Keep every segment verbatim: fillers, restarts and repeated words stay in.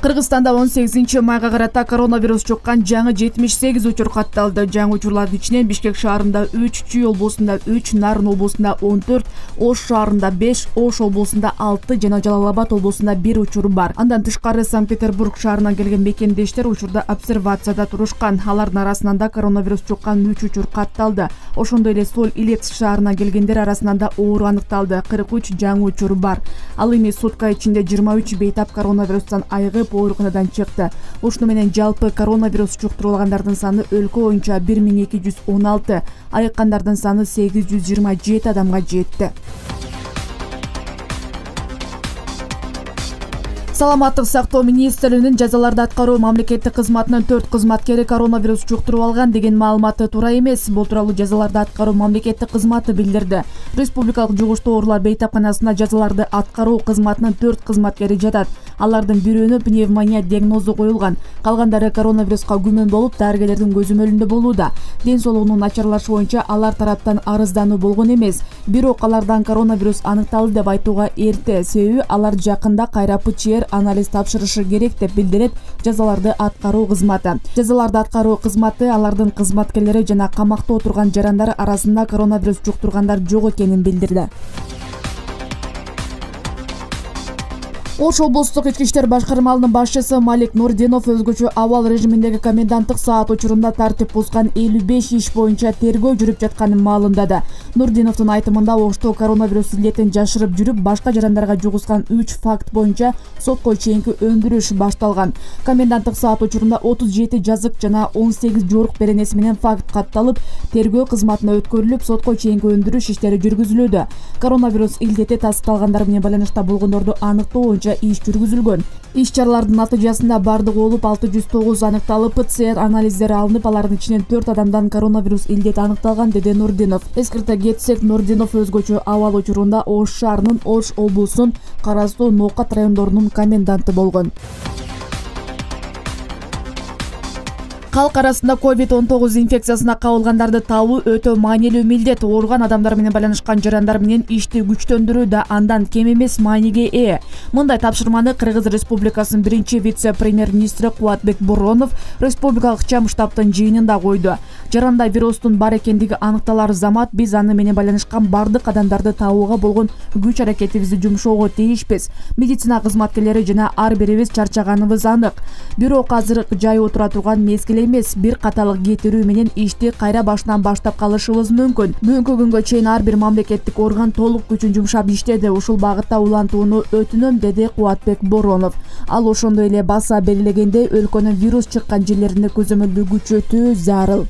Кыргызстанда он сегизинчи майга карата коронавирус жуккан жаңы жетимиш сегиз учур катталды. Жаңы учурлардын ичинен Бишкек шаарында үч, Чүй облусунда үч, Нарын облусунда он төрт, Ош шаарында беш, Ош облусунда алты жана Жалал Абад облусунда бир учур бар. Андан тышкары Санкт-Петербург шаарынан келген мекендештер учурда обсервацияда турушкан. Алардын арасынан да коронавирус жуккан үч учур катталды. Ошондой эле Соль Илецк шаарынан келгендер арасынан да оору аныкталды. кырк үч жаңы учур бар. Ал эми сутка ичинде жыйырма үч бейтап коронавирустан айыгып ооруканадан чыкты. Ушуну менен жалпы коронавирус жуктурулгандардын саны өлкө боюнча бир миң эки жүз он алты, айыккандардын саны сегиз жүз жыйырма жети адамга жетти. Саламаттык сактоо министрлигинин жазаларды аткаруу мамлекеттик кызматынын төрт кызматкери коронавирус жуктуруп алган деген маалыматы туура эмес. Бул тууралуу жазаларды аткаруу мамлекеттик кызматы билдирди. Республикалык жугуштуу оорулар бейтапканасына жазаларды аткаруу кызматынын төрт кызматкери жатат. Алардын бирөөнө пневмония диагнозу коюлган. Калгандары коронавируска күмөн болуп, дарыгерлердин көзөмөлүндө болууда. Ден соолугунун начарлашы боюнча алар тараптан арыздануу болгон эмес. Бирок алардан коронавирус аныкталды деп айтууга эрте, себеби алар жакында кайра ПЧР анализ тапшырышы керек деп билдирет жазаларды аткаруу кызматы. Жазаларды аткаруу кызматы алардын кызматкерлери жана камакта отурган жарандар арасында коронавирус жуктургандар жок экенин билдирди. Ош облустук ички иштер башкармалынын башчысы Малик Нурдинов өзгөчө абал режиминдеги коменданттык саат учурунда тартип бузган элүү беш иш боюнча тергөө жүрүп жатканын маалымдады. Нурдиновдун айтымында Ошто коронавирус илетин жашырып жүрүп, башка жарандарга жугузган үч факт боюнча сотко чейинки өндүрүш башталган. Коменданттык саат учурунда отуз жети жазык жана он сегиз жорук беренеси менен факт катталып, тергөө кызматына өткөрүлүп, сотко чейинки өндүрүш иштери жүргүзүлүүдө. Коронавирус илдети тасталгандар менен байланышта болгондорду аныктоо боюнча иш жүргүзүлгөн. Иш чаралардын натыйжасында бардыгы болуп алты жүз тогуз аныкталып, ПЦР анализдери алынып, алардын ичинен төрт адамдан коронавирус илдети аныкталган, деди Нурдинов. Эскерте кетсек, Нурдинов өзгөчө абал учурунда Ош шаарынын Ош облусунун карастуу Ноокат райондорунун коменданты болгон. Калк арасында ковид он тогуз инфекциясына кабылгандарды табуу өтө маанилүү милдет. Ооруган адамдар менен байланышкан жарандар менен ишти күчтөндүрүү да андан кем эмес мааниге ээ. Мындай тапшырманы Кыргыз Республикасынын биринчи вице-премьер-министри Кубатбек Боронов республикалык чам штабтын жыйынында койду. Жаранда вирустун бар экендиги аныкталар замат биз аны менен байланышкан бардык адамдарды табууга болгон күч аракетибизди жумшоого тийишпиз. Медицина кызматкерлери жана ар бирибиз чарчаганыбыз анык. Бирок азыр жай отура турган мезгил эмес, бир каталык кетирүү менен ишти кайра башынан баштап калышыбыз мүмкүн. Бүгүнкү күнгө чейин ар бир мамлекеттик орган толук күчүн жумшап иштеди. Ушул багытта улантууну өтүнөм, деди Кубатбек Боронов. Ал ошондой эле баса белгилегендей, өлкөнүн вирус чыккан жерлеринде көзөмөлдү күчөтүү зарыл.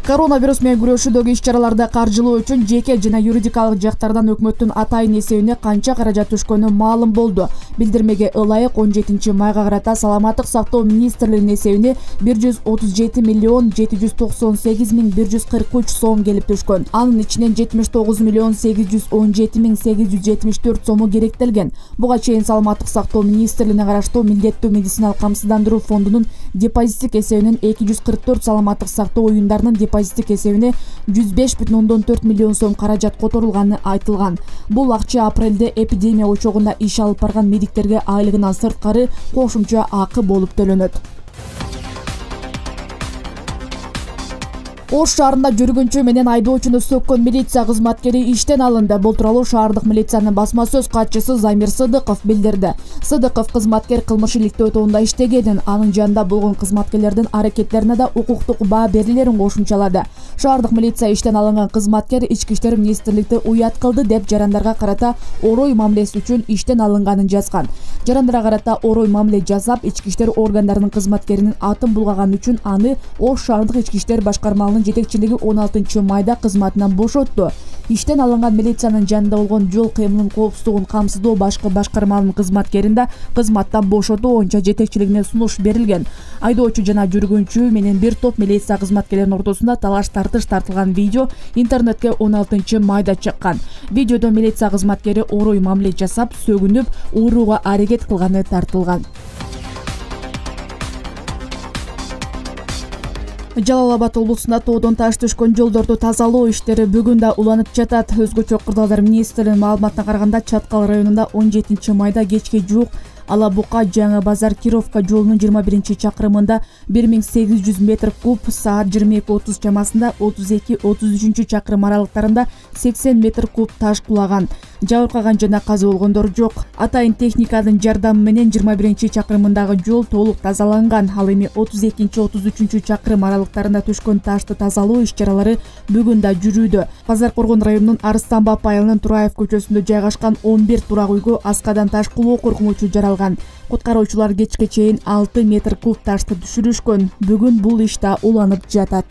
Коронавирус менен күрөшүүдөгү иш-чараларды каржылоо үчүн жеке жана юридикалык жактардан өкмөттүн атайын эсебине канча каражат түшкөнү маалым болду. Билдирмеге ылайык он жетинчи майга карата Саламаттык сактоо министрлигинин эсебине бир жүз отуз жети миллион жети жүз токсон сегиз миң бир жүз кырк үч сом келип түшкөн. Анын ичинен жетимиш тогуз миллион сегиз жүз он жети миң сегиз жүз жетимиш төрт сому керектелген. Буга чейин Саламаттык сактоо министрлигине караштуу милдеттүү медициналык камсыздандыруу фондунун депозиттик эсебинен эки жүз кырк төрт саламаттык сактоо уюмдарынын депозиттик эсебине жүз беш бүтүн ондон төрт миллион сом каражат которулганы айтылган. Бул акча апрелде эпидемия очогунда иш алып барган медиктерге айлыгынан сырткары кошумча акы болуп төлөнөт. Ош шаарында жүргүнчү менен айдоочуну сөккөн милиция кызматкери иштен алынды. Бул тууралуу шаардык милициянын басма сөз катчысы Замир Сыдыков билдирди. Сыдыков кызматкер кылмыш иликтөө тобунда иштегенин, анын жанында болгон кызматкерлердин аракеттерине да укуктук баа берилерин кошумчалады. Шаардык милиция иштен алынган кызматкер ички иштер министрликти уят кылды деп жарандарга карата орой мамилеси үчүн иштен алынганын жазган. Жарандарга карата орой мамиле жасап, ички иштер органдарынын кызматкеринин атын булгаган үчүн аны Ош шаардык ички иштер башкармалынын жетекчилиги он алтынчы майда кызматынан бошотту. Иштен алынган милициянын жанында болгон жол кыймылынын коопсуздугун камсыздоо башкы башкармалынын кызматкерин да кызматтан бошотуу боюнча жетекчилигине сунуш берилген. Айдоочу жана жүргүнчү менен бир топ милиция кызматкерлеринин ортосунда талаш тартыш тартылган видео интернетке он алтынчы майда чыккан. Видеодо милиция кызматкери орой мамиле жасап, сөгүнүп, урууга аракет кылганы тартылган. Жалал Абад облусунда тоодон таш түшкөн жолдорду тазалоо иштери бүгүн да уланып жатат. Өзгөчө кырдаалдар министринин маалыматына караганда, Чаткал районунда он жетинчи майда кечке жуук Ала Бука Жаңы Базар Кировка жолунун жыйырма биринчи чакырымында бир миң сегиз жүз метр куб, саат жыйырма эки отуз чамасында отуз эки отуз үчүнчү чакырым аралыктарында сексен метр куб таш кулаган. Жабыркаган жана каза болгондор жок. Атайын техниканын жардамы менен жыйырма биринчи чакырымындагы жол толук тазаланган. Ал эми отуз экинчи отуз үчүнчү чакырым аралыктарында түшкөн ташты тазалоо иш-чаралары бүгүн да жүрүүдө. Базар Коргон районунун Арыстанбап айылынын Тураев көчөсүндө жайгашкан он бир турак үйгө аскадан таш кулоо коркунучу жаралган. Куткаруучулар кечке чейин алты метр куб ташты түшүрүшкөн. Бүгүн бул иш да уланып жатат.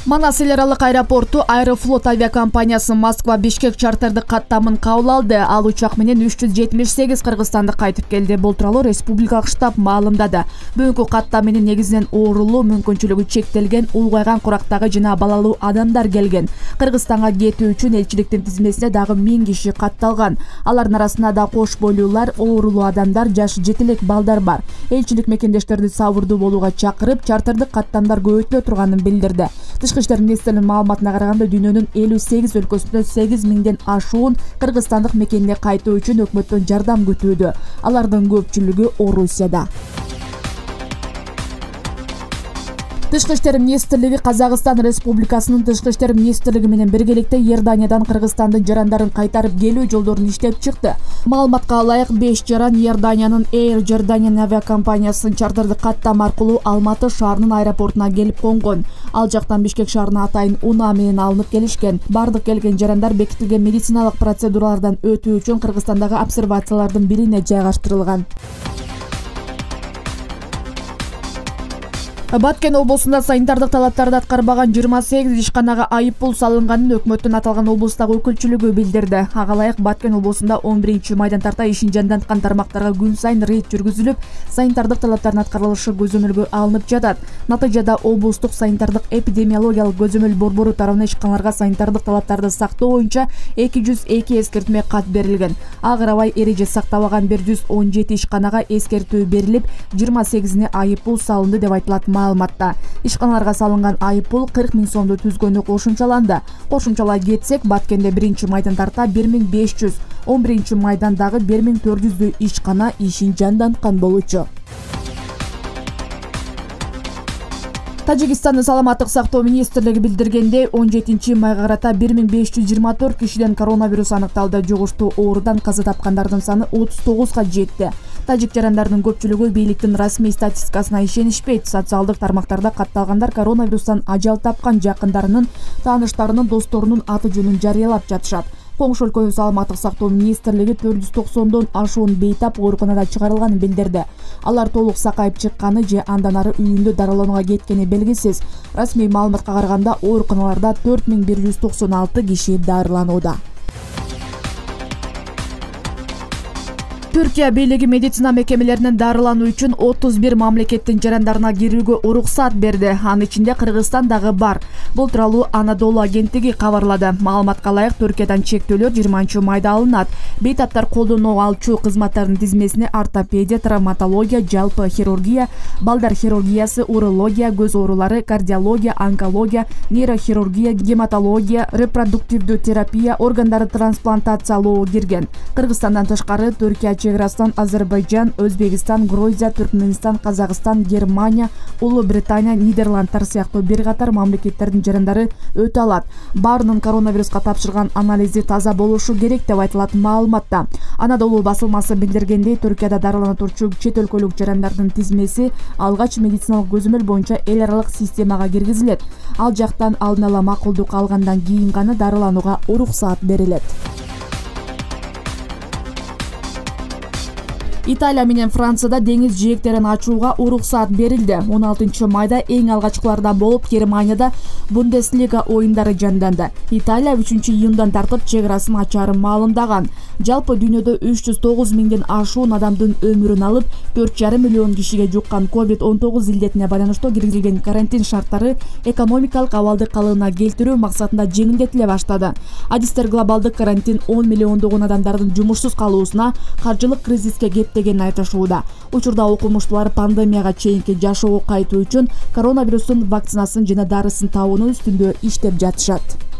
Манас эл аралык аэропорту Аэрофлот авиакомпаниясы Москва-Бишкек чартердик каттамын кабыл алды. Ал учак менен үч жүз жетимиш сегиз кыргызстандык кайтып келди. Бул тууралуу республикалык штаб маалымдады. Бүгүнкү каттам менен негизинен оорулуу, мүмкүнчүлүгү чектелген, улгайган курактагы жана балалуу адамдар келген. Кыргызстанга кетүү үчүн элчиликтин тизмесине дагы миң киши катталган. Алардын арасында да кош бойлуулар, оорулуу адамдар, жашы жети элек балдар бар. Элчилик мекендештерди сабырдуу болууга чакырып, чартердик каттамдар көбөйтүлө турганын билдирди. Тышкы иштер министринин маалыматына караганда, дүйнөнүн элүү сегиз өлкөсүндө сегиз миңден ашуун кыргызстандык мекенге кайтуу үчүн өкмөттөн жардам күтүүдө. Алардын көпчүлүгү Орусияда. Тышкы иштер министрлиги Казакстан Республикасынын Тышкы иштер министрлиги менен биргеликте Иорданиядан Кыргызстандын жарандарын кайтарып келүү жолдорун иштеп чыкты. Маалыматка ылайык, беш жаран Иорданиянын Air Jordanian авиакомпаниясынын чартердик каттам аркылуу Алматы шаарынын аэропортуна келип конгон. Ал жактан Бишкек шаарына атайын унаа менен алынып келишкен. Бардык келген жарандар бекитилген медициналык процедуралардан өтүү үчүн Кыргызстандагы обсервациялардын бирине жайгаштырылган. Баткен облусунда санитардык талаптарды аткарбаган жыйырма сегиз ишканага айып пул салынганын өкмөттүн аталган облустагы өкүлчүлүгү билдирди. Ага ылайык Баткен облусунда он биринчи майдан тарта ишин жанданткан тармактарга күн сайын рейд жүргүзүлүп, санитардык талаптардын аткарылышы көзөмөлгө алынып жатат. Натыйжада облустук санитардык эпидемиологиялык көзөмөл борбору тарабынан ишканаларга санитардык талаптарды сактоо боюнча эки жүз эки эскертме кат берилген. Ага карабай эреже сактабаган бир жүз он жети ишканага эскертүү берилип, жыйырма сегизине айып пул салынды деп айтылат маалыматта. Ишканаларга салынган айып пул кырк миң сомду түзгөнү кошумчаланды. Кошумчалай кетсек, Баткенде биринчи майдан тарта бир миң беш жүз, он биринчи майдандагы бир миң төрт жүздөй ишкана ишин жанданткан болчу. Тажикстандын саламаттык сактоо министрлиги билдиргендей, он жетинчи майга карата бир миң беш жүз жыйырма төрт кишиден коронавирус аныкталды. Жугуштуу оорудан каза тапкандардын саны отуз тогузга жетти. Тажик жарандардын көпчүлүгү бийликтин расмий статистикасына ишенишпейт. Социалдык тармактарда катталгандар коронавирустан ажал тапкан жакындарынын, тааныштарынын, досторунун аты жөнүн жарыялап жатышат. Коңшу өлкөнүн саламаттык сактоо министрлиги төрт жүз токсондон ашуун бейтап ооруканада чыгарылганын билдирди. Алар толук сакайып чыкканы же андан ары үйүндө дарыланууга кеткени белгисиз. Расмий маалыматка караганда, ооруканаларда төрт миң бир жүз токсон алты киши дарыланууда. Түркия бийлиги медицина мекемелеринин дарылануу үчүн отуз бир мамлекеттин жарандарына кирүүгө уруксат берди. Анын ичинде Кыргызстан дагы бар. Бул тууралуу Анадолу агенттиги кабарлады. Маалыматка ылайык, Түркиядан чектөөлөр жыйырманчы майда алынат. Бейтаптар колдонуу алчу кызматтардын тизмесине ортопедия, травматология, жалпы хирургия, балдар хирургиясы, урология, көз оорулары, кардиология, онкология, нейрохирургия, гематология, репродуктивдүү терапия, органдарды трансплантациялоо кирген. Кыргызстандан тышкары Түркия чеграсынан Азербайжан, Өзбекстан, Грузия, Түркменстан, Казакстан, Германия, Улуу Британия, Нидерландтар сыяктуу бир катар мамлекеттердин жарандары өтө алат. Баарынын коронавируска тапшырган анализи таза болушу керек деп айтылат маалыматта. Анадолу басылмасы билдиргендей, Түркияда дарылана турчу чет өлкөлүк жарандардын тизмеси алгач медициналык көзөмөл боюнча эл аралык системага киргизилет. Ал жактан алдын ала макулдук алгандан кийин гана дарыланууга уруксат берилет. Италия менен Францияда деңиз жээктерин ачууга уруксат берилди. он алтынчы майда эң алгачкылардан болуп Германияда Бундеслига оюндары жанданды. Италия үчүнчү июндан тартып чек арасын ачаарын маалымдаган. Жалпы дүйнөдө үч жүз тогуз миңден ашуун адамдын өмүрүн алып, төрт жарым миллион кишиге жуккан ковид он тогуз илдетине байланыштуу киргизилген карантин шарттары экономикалык абалды калыбына келтирүү максатында жеңилдетиле баштады. Адистер глобалдык карантин он миллиондогон адамдардын жумушсуз калуусуна, каржылык кризиске кептегенин айтышууда. Учурда окумуштуулар пандемияга чейинки жашоого кайтуу үчүн коронавирустун вакцинасын жана дарысын табуунун үстүндө иштеп жатышат.